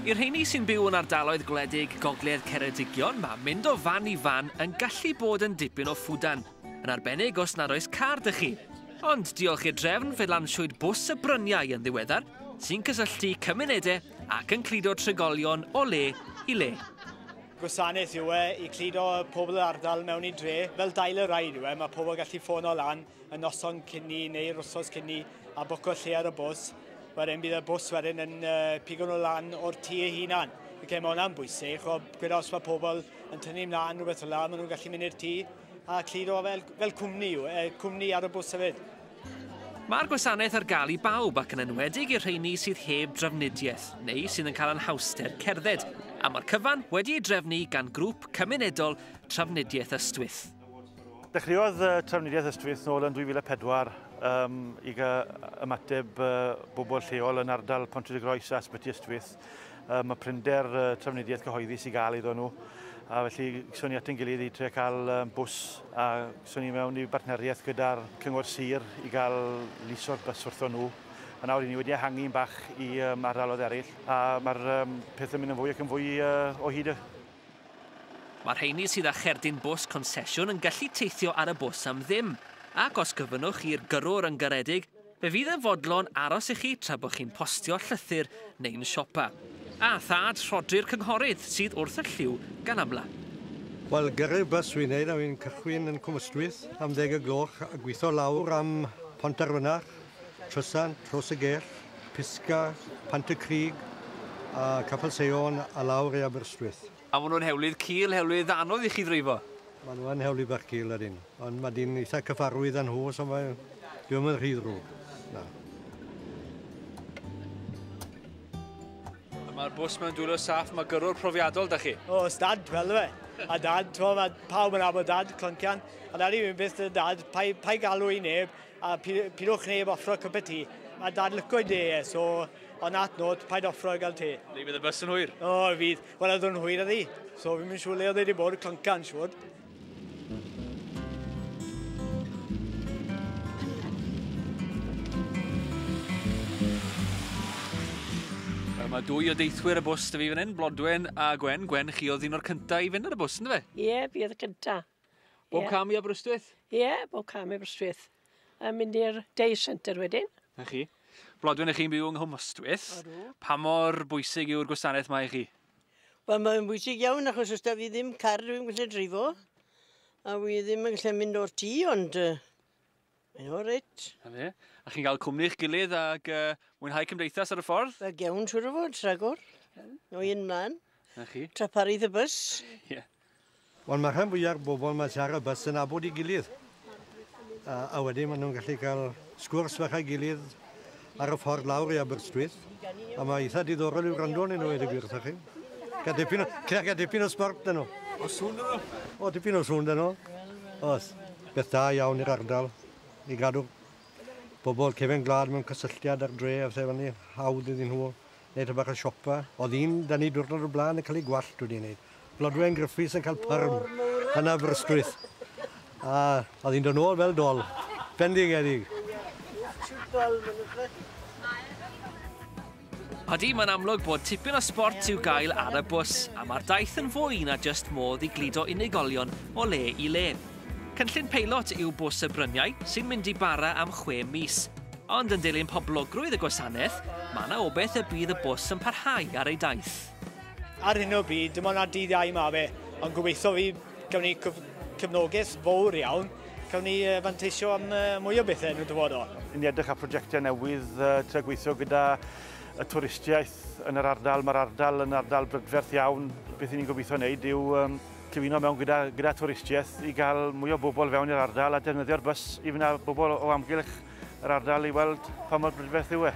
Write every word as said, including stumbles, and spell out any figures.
I'r rheini sy'n byw yn ardaloedd gwledig Gogledd Ceredigion, mae mynd o fan i fan yn gallu bod yn dipyn o ffwdan, yn arbennig os nad oes car 'da chi. Ond diolch i'r drefn, fe lansiwyd bws y bryniau yn ddiweddar, sy'n cysylltu cymunedau ac yn cludo trigolion o le i le. Gwasanaeth yw e i cludo pobl yr ardal mewn i dre, fel dial a ride yw e, mae pobl gallu ffono lan y noson cyn ni neu'r wsos cyn ni a bwco lle ar y bws. Wedyn bydd y bws wedyn yn uh, pigo nhw lan o'r tŷ eu hunan. Okay, mae hwnna'n bwysig, o, gweda os mae pobl yn tynnu ymlaen rhywbeth fel 'na, maen nhw'n gallu mynd i'r tŷ a cludo fel, fel cwmni yw, eh, cwmni ar y bws hefyd. Mae'r gwasanaeth ar gael i bawb ac yn enwedig i'r rheini sydd heb drafnidiaeth neu sydd yn cael anhawster cerdded, a mae'r cyfan wedi ei drefnu gan grŵp cymunedol Trafnidiaeth Ystwyth. Dechreuodd uh, Trafnidiaeth Ystwyth nôl yn dwy fil a pedwar um, i gael ymateb uh, bobl lleol yn ardal Pontrhydygroes a Ysbyty Ystwyth. Um, mae prinder uh, trafnidiaeth cyhoeddus i gael iddyn nhw, a felly gaethon ni at ein gilydd i trio cael um, bws a gaethon ni mewn i bartneriaeth gyda'r Cyngor Sir i gael liso'r bws wrthon nhw. A nawr i ni wedi ehangu'n bach i um, ardaloedd eraill, a mae'r um, peth yn mynd yn fwy ac yn fwy uh, o hyd. Mae'r rheini sydd â cherdyn bws consesiwn yn gallu teithio ar y bws am ddim, ac os gofynnwch i'r gyrrwr yn garedig, fe fydd yn fodlon aros i chi tra bod chi'n postio llythyr neu'n siopa. A thad Rhodri'r cynghorydd sydd wrth y llyw gan amla. Wel, gyrru'r bws wy'n neud, a wy'n cychwyn yn Cwm Ystwyth am ddeg y gloch a gweithio lawr am Pontarfynach, Trysan, Tros y Gell, Pisga, Pant y Crug, a Capel Seion a lawr i Aberystwyth. A maen nhw'n hewlydd cul, hewlydd anodd i chi ddreifo? Maen nhw yn hewlydd bach cul ydyn, ond mae dyn eitha cyfarwydd â nhw, so mae ddim yn rhy ddrwg. Na. Mae'r bws mewn dwylo saff, mae gyrrwr profiadol da chi. O, os dad, fel fe. A dad, t'mo, mae pawb yn nabod dad, cloncian. A dad i fi'n byth dy dad, pai, pai galw i neb, a pidwch neb offro cup o tea. Mae dad lyco i de, so on that note, paid offro i gael te. Neu bydd y bws yn hwyr? O, fydd. Wel, oedd yn hwyr ydi. So fi'n mynd siŵr le oedd wedi bod, cloncan, siŵr. Mae dwy o deithwyr y bws 'da fi fan hyn, Blodwen a Gwen. Gwen, chi oedd un o'r cyntaf i fynd ar y bws, ynddo fe? Ie, yeah, fi oedd y cyntaf. Bob yeah. cam i Aberystwyth? Ie, yeah, bob cam i Aberystwyth. A mynd i'r day centre wedyn. Na chi. Blodwen, ych chi'n byw yng Nghwm Ystwyth. Pa mor bwysig yw'r gwasanaeth mae i chi? Wel, mae'n bwysig iawn achos os da fi ddim car dwi'n gallu dreifo. A wi ddim yn gallu mynd o'r tŷ, ond uh, mae'n o reit. Na fe. A chi'n cael cwmni eich gilydd ac uh, mwynhau cymdeithas ar y ffordd? Wel, iawn, siŵr o fod, rhagor. O un mlaen. Na chi. Traparu y bws. Ie. Yeah. Wel, mae rhan fwyaf bobl mae sy ar y bws yn nabod i gilydd. A, a wedyn maen nhw'n gallu cael sgwrs fach â'i gilydd ar y ffordd lawr i Aberystwyth. A mae eitha diddorol i'w wrando arnyn nhw, weud y gwir wrthych chi. Gael dipyn o, gael dipyn o sbort dyn nhw. O sŵn dyn nhw? O, dipyn o sŵn dyn nhw. Oes, beth da iawn i'r ardal i gadw bobl cefen gwlad mewn cysylltiad ar dre a pethau fel hawdd iddyn nhw wneud bach o siopa. Oedd un da ni diwrnod o'r blaen yn cael ei gwallt wedi wneud. Blodwen Griffiths yn cael perm yn Aberystwyth. A oedd hi'n dod nôl fel dol. Bendigedig. Odi, mae'n amlwg bod tipyn o sbort i'w gael ar y bws, a mae'r daith yn fwy na jyst modd i gludo unigolion o le i le. Cynllun peilot yw bws y bryniau sy'n mynd i bara am chwe mis. Ond yn dilyn poblogrwydd y gwasanaeth, mae yna obaith y bydd y bws yn parhau ar ei daith. Ar hyn o bryd, dim ond ar dydd Iau ma fe, ond gobeithio fi gawn ni cefnogaeth fawr iawn, cawn ni fanteisio am mwy o bethau yn y dyfodol. Ni'n edrych ar prosiectau newydd, uh, trio gweithio gyda y twristiaeth yn yr ardal. Mae'r ardal yn ardal brydferth iawn. Beth ni'n gobeithio wneud yw um, cyfuno mewn gyda, gyda twristiaeth i gael mwy o bobl fewn i'r ardal a defnyddio'r bws i fynd â bobl o amgylch yr ardal i weld pa mor brydferth yw e.